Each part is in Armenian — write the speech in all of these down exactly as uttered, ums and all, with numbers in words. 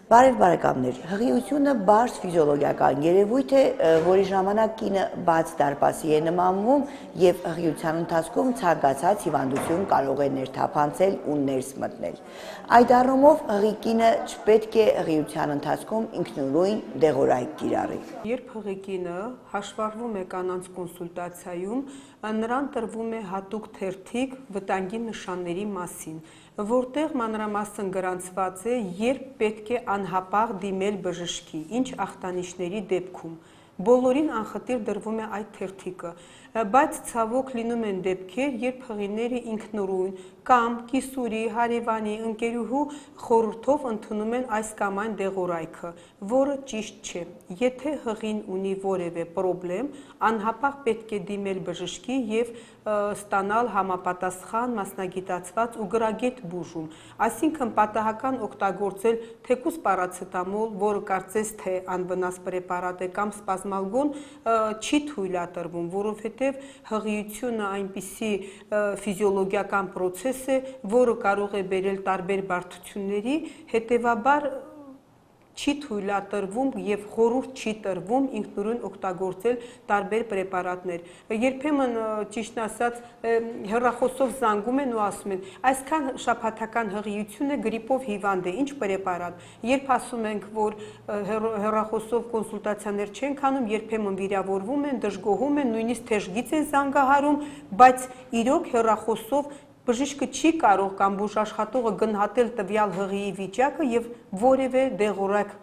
Բարև բարեկամներ, հղիությունը բարձ ֆիզիոլոգիական երևույթ է, որի ժամանակ կինը բաց դարպասի է նմանվում և հղիության ընթացքում ցանկացած հիվանդություն կարող է ներթափանցել ու ներս մտնել։ Այդ առումով հղի կինը չպետք է հղիության ընթացքում ինքնուրույն դեղորայք կիրառի։ Երբ հղի կինը հաշվառվում է կանանց կոնսուլտացիայում, նրան տրվում է հատուկ թերթիկ վտանգի նշանների մասին, որտեղ մանրամասն գրանցված է, երբ պետք է անհապաղ դիմել բժշկի, ինչ ախտանիշների դեպքում։ Բոլորին անխտիր դրվում է այդ թերթիկը, բայց ցավոք լինում են դեպքեր, երբ հղիները ինքնուրույն կամ կիսուրի, հարևանի, ընկերուհու խորհրդով ընդունում են այս կամ այն դեղորայքը, որը ճիշտ չէ։ Եթե հղին ունի որևէ պրոբլեմ, անհապաղ պետք է դիմել բժշկի և ստանալ համապատասխան մասնագիտացված ու գրագետ բուժում, այսինքն պատահական օգտագործել թեկուզ պարացետամոլ, որը կարծես թե անվնաս պրեպարատ է, կամ սպազմալգոն չի թույլատրվում, որովհետև հղիությունը այնպիսի ֆիզիոլոգիական պրոցես է, որը կարող է բերել տարբեր բարդությունների, հետևաբար չի թույլատրվում և խորհուրդ չի տրվում ինքնուրույն օգտագործել տարբեր պրեպարատներ։ Երբեմն ճիշտն ասած հեռախոսով զանգում են ու ասում են, այսքան շաբաթական հղիություն է, գրիպով հիվանդ է, ինչ պրեպարատ։ Երբ ասում ենք, որ հեռախոսով կոնսուլտացիաներ չենք անում, երբեմն վիրավորվում են, դժգոհում են, նույնիսկ թեժգից են զանգահարում, բայց իրոք հեռախոսով բժիշկը չի կարող կամ բուժաշխատողը գնահատել տվյալ հղիի վիճակը և որևէ դեղորայք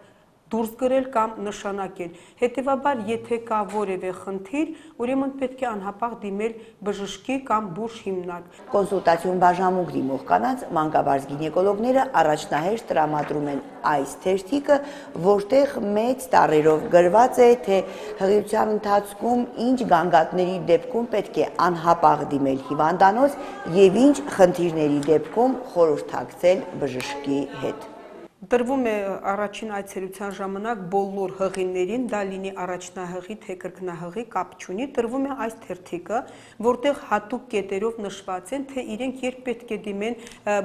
դուրս գրել կամ նշանակել։ Հետևաբար, եթե կա որևէ խնդիր, ուրեմն պետք է անհապաղ դիմել բժշկի կամ բուժ հիմնարկ։ Կոնսուլտացիոն բաժանմունք դիմող կանանց մանկաբարձ գինեկոլոգները առաջնահերթ տրամադրում են այս թերթիկը, որտեղ մեծ տառերով գրված է, թե հղիության ընթացքում ինչ գանգատների դեպքում պետք է անհապաղ դիմել հիվանդանոց և ինչ խնդիրների դեպքում խորհրդակցել բժշկի հետ։ Տրվում է առաջին այցելության ժամանակ բոլոր հղիներին, դա լինի առաջնահղի, թե կրկնահղի, կապ չունի, տրվում է այս թերթիկը, որտեղ հատուկ կետերով նշված են, թե իրենք երբ պետք է դիմեն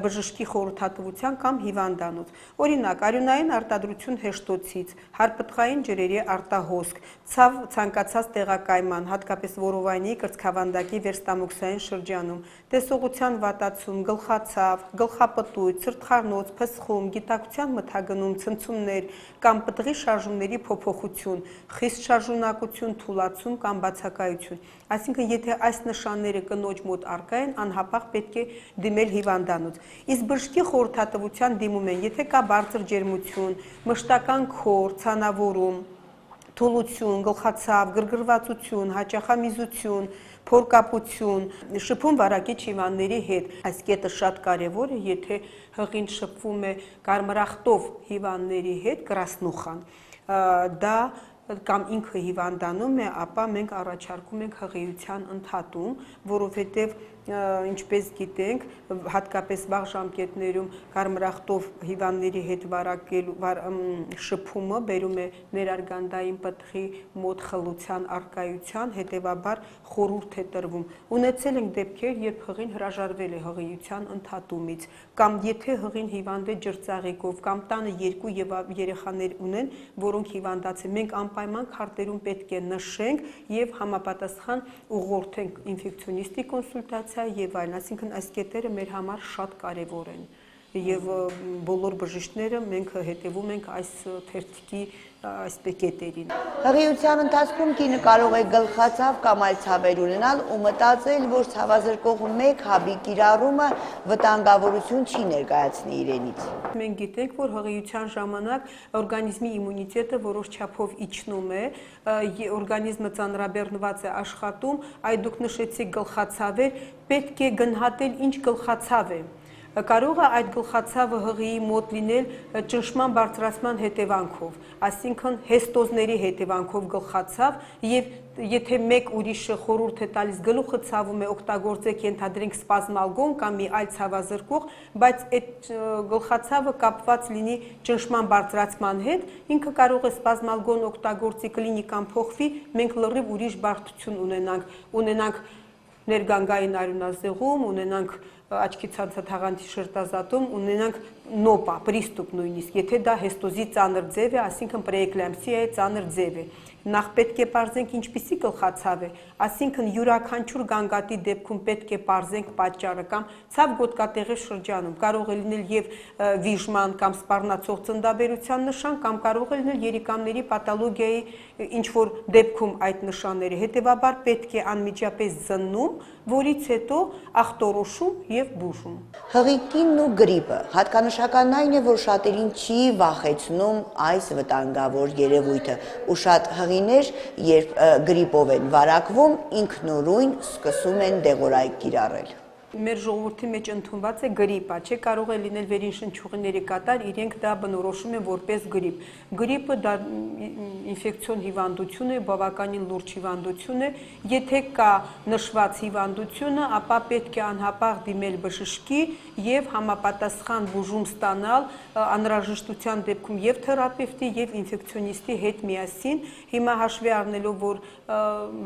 բժշկի խորհրդատվության կամ հիվանդանոց։ Օրինակ, արյունային արտադրություն հեշտոցից, հարպտղային ջրերի արտահոսք, ցավ ցանկացած տեղակայման, հատկապես որովայնի, կրծքավանդակի վերստամոքսային շրջանում, տեսողության վատացում, գլխացավ, գլխապտույտ, սրտխառնոց, փսխում, գիտակցության մթագնում, ցնցումներ կամ պտղի շարժումների փոփոխություն, խիստ շարժունակություն, թուլացում կամ բացակայություն։ Այսինքն, եթե այս նշանները կնոջ մոտ առկա են, անհապաղ պետք է դիմել հիվանդանոց։ Իսկ բժշկի խորհրդատվության դիմում են, եթե կա բարձր ջերմություն, մշտական քոր, ցանավորում, թուլություն, գլխացավ, գրգռվածություն, հաճախամիզություն, փորկապություն, շփում վարակիչ հիվանդների հետ։ Այս կետը շատ կարևոր է, եթե հղին շփվում է կարմրախտով հիվանդների հետ, կրասնուխան, դա կամ ինքը հիվանդանում է, ապա մենք առաջարկում ենք հղիության ընդհատում, որովհետև ինչպես գիտենք, հատկապես վաղ ժամկետներում կարմրախտով հիվանդների հետ վարակելու շփումը բերում է ներարգանդային պտղի մոտ խլության առկայության, հետևաբար խորհուրդ է տրվում։ Ունեցել ենք դեպքեր, երբ հղին հրաժարվել է հղիության ընդհատումից, կամ եթե հղին հիվանդ է ջրծաղիկով, կամ տանը երկու երեխաներ ունեն, որոնք հիվանդացել են, մենք անպայման քարտերում պետք է նշենք և համապատասխան ուղղորդենք ինֆեկցիոնիստի կոնսուլտացիա և այլն, այսինքն այս կետերը մեր համար շատ կարևոր են և բոլոր բժիշկները մենք հետևում ենք այս թերթիկի այսպես կետերին։ Հղիության ընթացքում կինը կարող է գլխացավ կամ այլ ցավեր ունենալ ու մտածել, որ ցավազրկող մեկ հաբի կիրառումը վտանգավորություն չի ներկայացնի իրենից։ Մենք գիտենք, որ հղիության ժամանակ օրգանիզմի իմունիտետը որոշ չափով իջնում է, օրգանիզմը ծանրաբեռնված է աշխատում, այդ դուք նշեցիք գլխացավեր, պետք է գնահատել ինչ գլխացավ է։ Կարող է այդ գլխացավը հղիի մոտ լինել ճնշման բարձրացման հետևանքով, այսինքն հեստոզների հետևանքով գլխացավ, և եթե մեկ ուրիշը խորհուրդ է տալիս գլուխը ցավում է, օգտագործեք ենթադրենք սպազմալգոն կամ մի այլ ցավազրկող, բայց այդ գլխացավը կապված լինի ճնշման բարձրացման հետ, ինքը կարող է սպազմալգոն օգտագործի, կլինիկան փոխվի, մենք լրիվ ուրիշ բարդություն ունենանք, ունենանք ներգանգային արյունազեղում, ունենանք աչքի ցանցաթաղանթի շրտազատում ունենանք նոպա, պրիստուպ նույնիսկ, եթե դա հեստոզի ծանր ձև է, այսինքն պրեէկլամպսիայի ծանր ձև է։ Նախ պետք է պարզենք ինչպիսի գլխացավ է, այսինքն յուրաքանչյուր գանգատի դեպքում պետք է պարզենք պատճառը կամ ցավ գոտկատեղի շրջանում կարող է լինել եւ վիժման կամ սպառնացող ծննդաբերության նշան կամ կարող է լինել երիկամների պաթոլոգիայի ինչ որ դեպքում այդ նշանները, հետեւաբար պետք է անմիջապես զննում, որից հետո ախտորոշում եւ բուժում։ Հղիկինն ու գրիպը հատկանշականն այն է, որ շատերին չի վախեցնում այս վտանգավոր երևույթը, ու շատ հղիներ, երբ գրիպով են վարակվում, ինքնուրույն սկսում են դեղորայք կիրառել։ Մեր ժողովրդի մեջ ընդունված է գրիպա, չէ, կարող է լինել վերին շնչուղիների կատար, իրենք դա բնորոշում են որպես գրիպ։ Գրիպը դա ինֆեկցիոն հիվանդություն է, բավականին լուրջ հիվանդություն է, եթե կա նշված հիվանդությունը, ապա պետք է անհապաղ դիմել բժշկի եւ համապատասխան բուժում ստանալ անհրաժեշտության դեպքում եւ թերապևտի եւ ինֆեկցիոնիստի հետ միասին։ Հիմա հաշվի առնելով, որ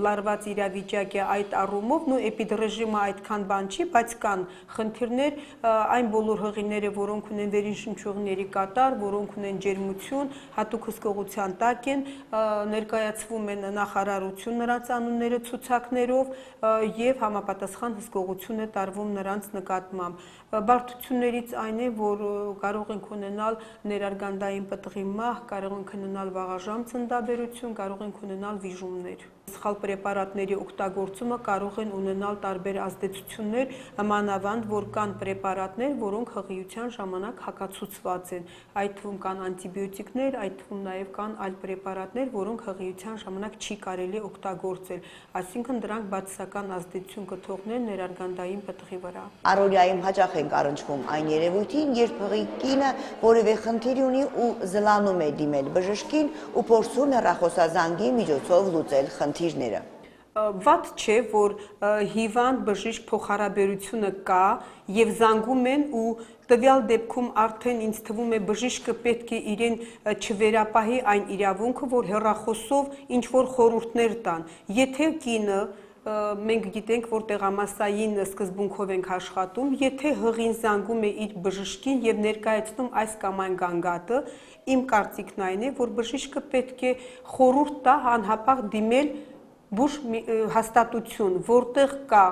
լարված իրավիճակ է այդ առումով, նո էպիդրեժիմը այդքան բան չի, բայց կան խնդիրներ, այն բոլոր հղիները, որոնք ունեն վերին շնչուղիների կատար, որոնք ունեն ջերմություն, հատուկ հսկողության տակ են, ներկայացվում են նախարարություն նրանց անունները ցուցակներով եւ համապատասխան հսկողություն է տարվում նրանց նկատմամբ։ Բարդություններից այն է, որ կարող ենք ունենալ ներարգանդային պտղի մահ, կարող ենք ունենալ վաղաժամ ծննդաբերություն, կարող ենք ունենալ վիժումներ։ Սխալ պրեպարատների օգտագործումը կարող են ունենալ տարբեր ազդեցություններ, մանավանդ որ կան պրեպարատներ, որոնք հղիության ժամանակ հակացուցված են։ Այդ թվում կան անտիբիոտիկներ, այդ թվում նաև կան այլ պրեպարատներ, որոնք հղիության ժամանակ չի կարելի օգտագործել, այսինքն դրանք բացասական ազդեցություն կթողնեն ներարգանդային պտղի վրա։ Առօրյայում հաճախ ենք առնչվում այն երևույթին, երբ հղիկինը որևէ խնդիր ունի ու զլանում է դիմել բժշկին ու փորձում հեռախոսազանգի միջոցով լուծել խնդիրները։ Վատ չէ, որ հիվանդ բժիշկ փոխհարաբերությունը կա եւ զանգում են ու տվյալ դեպքում արդեն ինձ թվում է բժիշկը պետք է իրեն չվերապահի այն իրավունքը, որ հեռախոսով ինչ որ խորհուրդներ տան։ Եթե կինը մենք գիտենք, որ տեղամասային սկզբունքով ենք աշխատում, եթե հղին զանգում է իր բժշկին եւ ներկայացնում այս կամ այն գանգատը, իմ կարծիքն այն է, որ բժիշկը պետք է խորհուրդ տա անհապաղ դիմել բուժ հաստատություն, որտեղ կա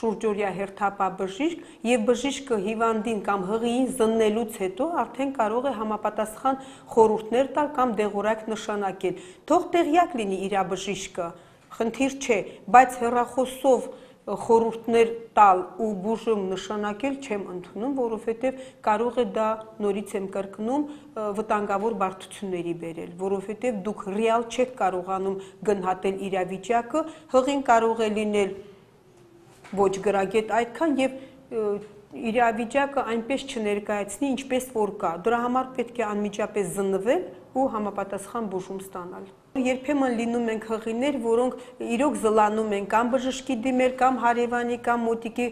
շուրջօրյա հերթապահ բժիշկ եւ բժիշկը հիվանդին կամ հղիին զննելուց հետո արդեն կարող է համապատասխան խորհուրդներ տալ կամ դեղորայք նշանակել։ Թող տեղյակ լինի իր բժիշկը, խնդիր չէ, բայց հեռախոսով խորհուրդներ տալ ու բուժում նշանակել չեմ ընդունում, որովհետև կարող է դա, նորից եմ կրկնում, վտանգավոր բարդությունների բերել, որովհետև դուք ռեալ չեք կարողանում գնահատել իրավիճակը, հղին կարող է լինել ոչ գրագետ այդքան եւ իրավիճակը այնպես չներկայացնի, ինչպես որ կա։ Դրա համար պետք է անմիջապես զննվել ու համապատասխան բուժում ստանալ։ Երբեմն լինում են հղիներ, որոնք իրոք զլանում են կամ բժշկի դիմել, կամ հարևանի, կամ մոտիկի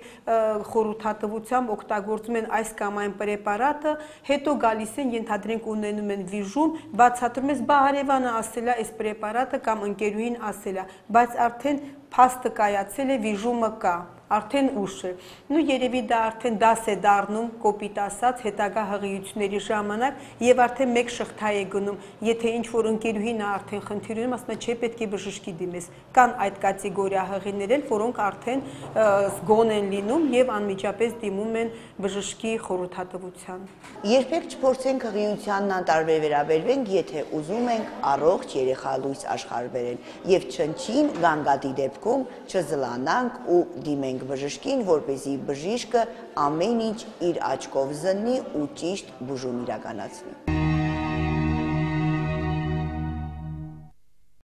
խորհրդատվությամբ օգտագործում են այս կամ այն պրեպարատը, հետո գալիս են, ենթադրենք ունենում են վիժում, բացատրում ես, բա հարևանը ասել է այս պրեպարատը կամ ընկերուհին ասել է, բայց արդեն փաստը կայացել է, վիժումը կա, արդեն ուշ է։ Նու երևի դա արդեն դաս է դառնում, կոպիտ ասած, հետագա հղիությունների ժամանակ եւ արդեն մեկ շղթա է գնում, եթե ինչ որ ընկերուհին է արդեն խնդիր ունի, ասում է, չէ, պետք է բժշկի դիմես։ Կան այդ կատեգորիա հղիներ, որոնք արդեն զգոն են լինում եւ անմիջապես դիմում են բժշկի խորհրդատվության։ Երբեք չփորձենք հղիությանն անտարբեր վերաբերվենք, եթե ուզում ենք առողջ երեխա լույս աշխարհ բերել եւ չնչին գանգատի դեպքում չզլանանք ու դիմենք բժշկին, որպեսզի բժիշկը ամեն ինչ իր աչքով զննի ու ճիշտ բուժում իրականացնի։